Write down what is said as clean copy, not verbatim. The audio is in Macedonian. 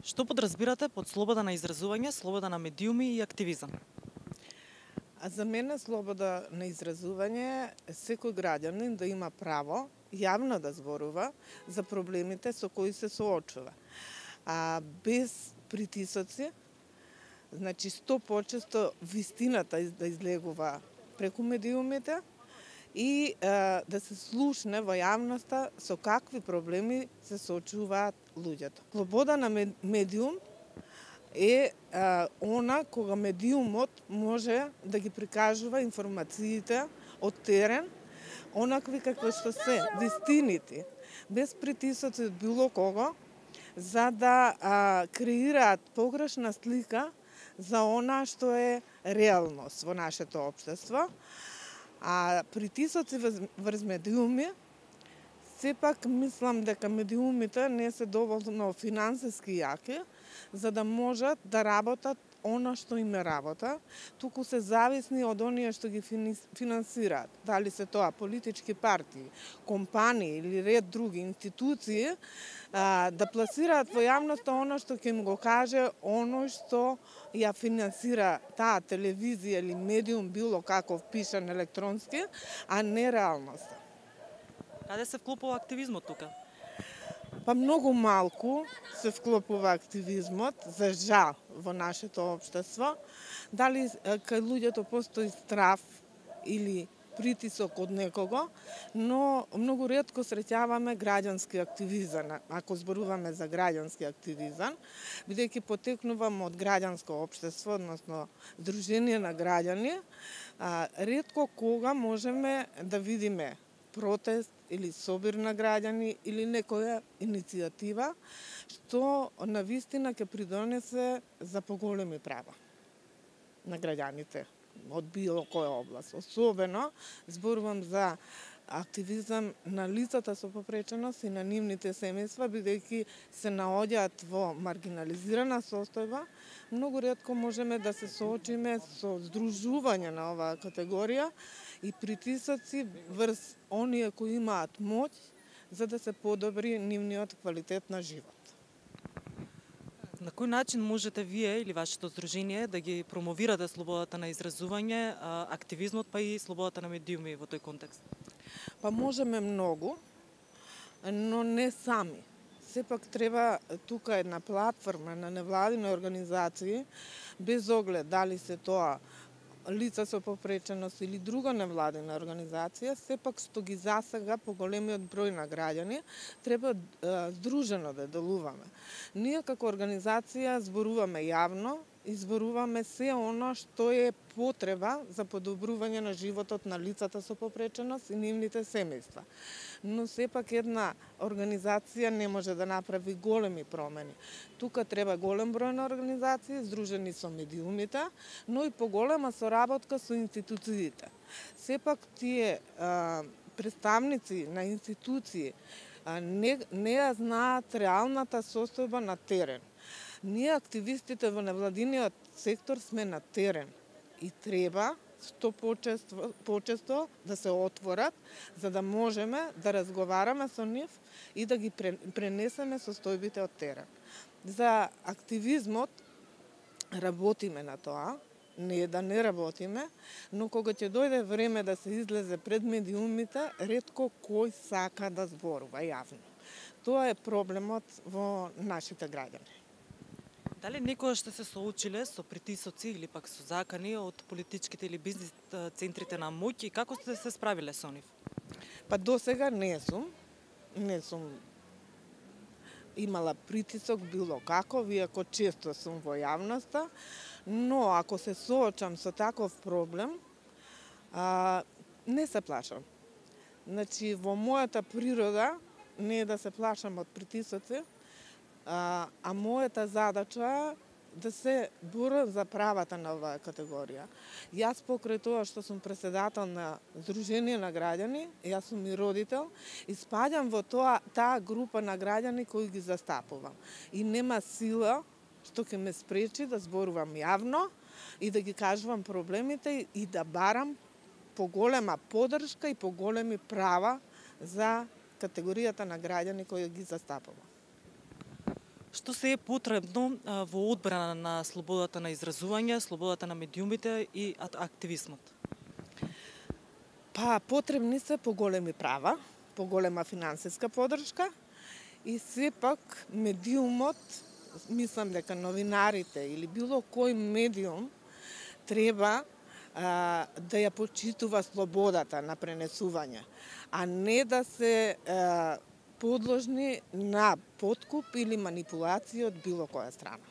Што подразбирате под слобода на изразување, слобода на медиуми и активизам? А за мене слобода на изразување е секој граѓанин да има право јавно да зборува за проблемите со кои се соочува. Без притисоци, значи 100% вистината да излегува преку медиумите и да се слушне во јавноста со какви проблеми се соочуваат луѓето. Слобода на медиум е она кога медиумот може да ги прикажува информациите од терен, онакви какви што се, вистините, без притисоци од било кого, за да креираат погрешна слика за она што е реалност во нашето општество. А притисоци врз медиуми, сепак мислам дека медиумите не се доволно финансиски јаки, за да можат да работат она што им е работа, туку се зависни од оние што ги финансираат. Дали се тоа политички партии, компании или ред други институции, да пласираат во јавноста оно што ќе им го каже оно што ја финансира таа телевизија или медиум било каков пишан електронски, а не реалноста. Каде се вклопува активизмот тука? Па многу малку се вклопува активизмот, за жал, во нашето општество. Дали кај луѓето постои страв или притисок од некого, но многу ретко среќаваме граѓански активизам, ако зборуваме за граѓански активизам, бидејќи потекнувам од граѓанско општество, односно Сдружение на граѓани, ретко кога можеме да видиме протест или собир на граѓани или некоја иницијатива што на вистина ќе придонесе за поголеми права на граѓаните од било која област. Особено зборувам за активизам на лицата со попреченост и на нивните семејства, бидејќи се наоѓаат во маргинализирана состојба. Многу ретко можеме да се соочиме со здружување на оваа категорија и притисоци врз оние кои имаат моќ за да се подобри нивниот квалитет на живот. На кој начин можете вие или вашето здружение да ги промовирате слободата на изразување, активизмот, па и слободата на медиуми во тој контекст? Па можеме многу, но не сами. Сепак треба тука една платформа на невладини организации, без оглед дали се тоа лица со попреченост или друга невладина организација, сепак што ги засега поголемиот број на граѓани, треба здружено да делуваме. Ние како организација зборуваме јавно и зборуваме се оно што е потреба за подобрување на животот на лицата со попреченост и нивните семејства. Но сепак една организација не може да направи големи промени. Тука треба голем број на организации, здружени со медиумите, но и поголема соработка со институциите. Сепак тие представници на институции не ја знаат реалната состојба на терен. Ние активистите во невладиниот сектор сме на терен и треба што почесто да се отворат, за да можеме да разговараме со нив и да ги пренесеме состојбите од терен. За активизмот работиме на тоа, не да не работиме, но кога ќе дојде време да се излезе пред медиумите, ретко кој сака да зборува јавно. Тоа е проблемот во нашите граѓани. Дали некогаш сте се соочиле со притисоци или пак со закани од политичките или бизнис центрите на моќ и како сте се справиле со нив? Па досега не сум имала притисок било каков, иако често сум во јавноста, но ако се соочам со таков проблем, не се плашам. Значи, во мојата природа не е да се плашам од притисоци, а мојата задача да се борам за правата на оваа категорија. Јас покрај тоа што сум претседател на Сдружение на граѓани, јас сум и родител, и спаѓам во таа група на граѓани кои ги застапувам. И нема сила што ќе ме спречи да зборувам јавно и да ги кажувам проблемите и да барам поголема поддршка и поголеми права за категоријата на граѓани кои ги застапувам. Што се е потребно во одбрана на слободата на изразување, слободата на медиумите и активизмот? Па потребни се поголеми права, поголема финансиска поддршка и сепак медиумот, мислам дека новинарите или било кој медиум треба да ја почитува слободата на пренесување, а не да се подложни на подкуп или манипулација од било која страна.